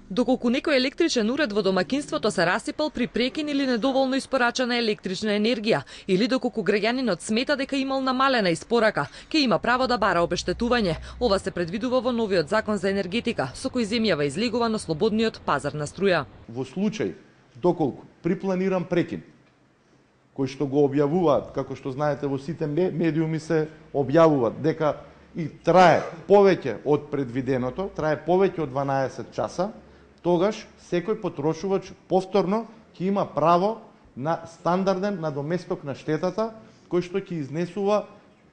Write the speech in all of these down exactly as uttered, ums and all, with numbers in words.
Доколку некој електричен уред во домаќинството се расипал при прекин или недоволно испорачана електрична енергија, или доколку граѓанинот смета дека имал намалена испорака, ќе има право да бара обештетување. Ова се предвидува во новиот закон за енергетика, со кој земјава излегува на слободниот пазар на струја. Во случај доколку при планиран прекин, кој што го објавуваат, како што знаете во сите медиуми се објавуваат дека и трае повеќе од предвиденото, трае повеќе од дванаесет часа, тогаш секој потрошувач повторно ќе има право на стандарден надоместок на штетата, кој што ќе изнесува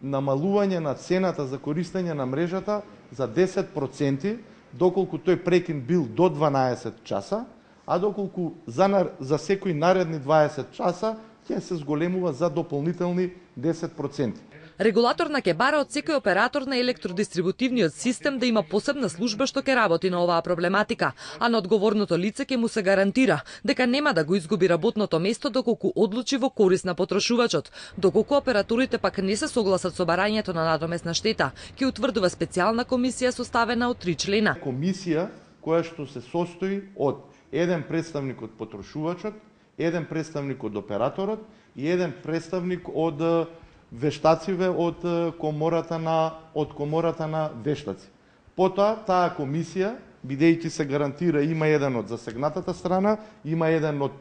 намалување на цената за користење на мрежата за десет проценти, доколку тој прекин бил до дванаесет часа, а доколку за, за секој наредни дваесет часа ќе се зголемува за дополнителни десет проценти. Регулаторна ќе бара од секој оператор на електродистрибутивниот систем да има посебна служба што ќе работи на оваа проблематика, а на одговорното лице ќе му се гарантира дека нема да го изгуби работното место доколку одлучи во корист на потрошувачот. Доколку операторите пак не се согласат со барањето на надомесна штета, ќе утврдува специјална комисија составена од три члена. Комисија која што се состои од еден представник од потрошувачот, еден представник од операторот и еден представник од вештациве од комората на од комората на вештаци. Потоа таа комисија, бидејќи се гарантира има еден од засегнатата страна, има еден од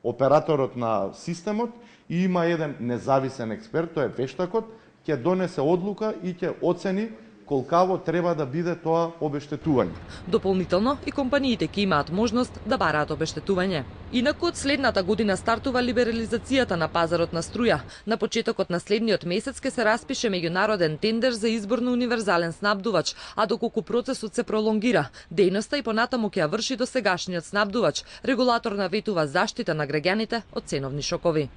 операторот на системот и има еден независен експерт, тој е вештакот, ќе донесе одлука и ќе оцени колкаво треба да биде тоа обештетување. Дополнително и компаниите ќе имаат можност да бараат обештетување. Инаку од следната година стартува либерализацијата на пазарот на струја. На почетокот на следниот месец ќе се распише меѓународен тендер за избор на универзален снабдувач, а доколку процесот се пролонгира, дејноста и понатаму ќе ја врши досегашниот снабдувач. Регулатор наветува заштита на граѓаните од ценовни шокови.